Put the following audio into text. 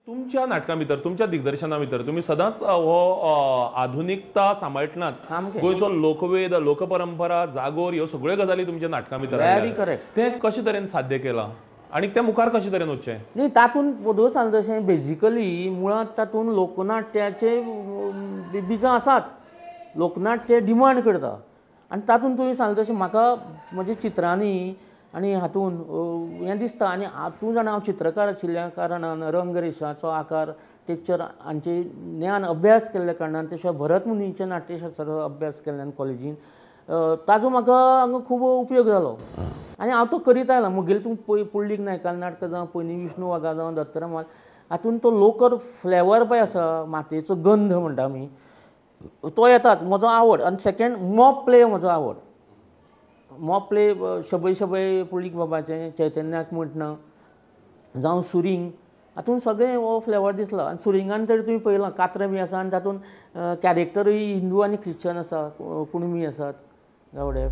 तुमच्या नाटकां भितर, तुमच्या दिग्दर्शना भितर तुमी सदांच हो आधुनिकता सांबाळटनाच गोंयचो लोकवेद, लोकपरंपरा, जागोर ह्यो सगळ्यो गजाली तुमच्या नाटकां भितर. Very correct. तें कशे तरेन साध्य केलां आनी तें मुखार कशे तरेन वचचें? न्ही, तातूंत पदो सांगता तशें बेजिकली मुळांत तातूंत लोकनाट्याचे बिजां आसात, लोकनाट्य डिमांड करता आनी तातूंत तुवें सांगलें तशें म्हाका म्हज्या चित्रांनी आनी हातून हें दिसता. आनी तूं जाणा हांव चित्रकार आशिल्ल्या कारणान रंगरेशाचो आकार, टेक्चर हांचे ज्ञान अभ्यास केल्ल्या कारणान, ते शिवाय भरत मुनीच्या नाट्यशास्त्राचो अभ्यास केल्ल्यान कॉलेजीन ताजो म्हाका हांगा खूब उपयोग जालो आनी हांव तो करीत आयला. म्हगेलें तूं पळय पुंडलीक नायकालें नाटकां जावं, पयलीं विष्णू वाघा जावं, दत्तराम हातून तो लोकर फ्लेवर पळय आसा, मातयेचो गंध म्हणटा आमी, तो येताच. म्हजो आवड. आनी सेकेंड मॉब प्ले म्हजो आवड. मॉब प्ले शबै शबै पुंडलीक बाबाचें, चैतन्याक म्हणटना जावं सुरींग, हातून सगळें हो फ्लेवर दिसला. आनी सुरिंगान तर तुवें पळयलां कातरां बी आसा आनी तातूंत कॅरेक्टरूय हिंदू आनी ख्रिश्चन आसा, कुणबी आसात, गावडे.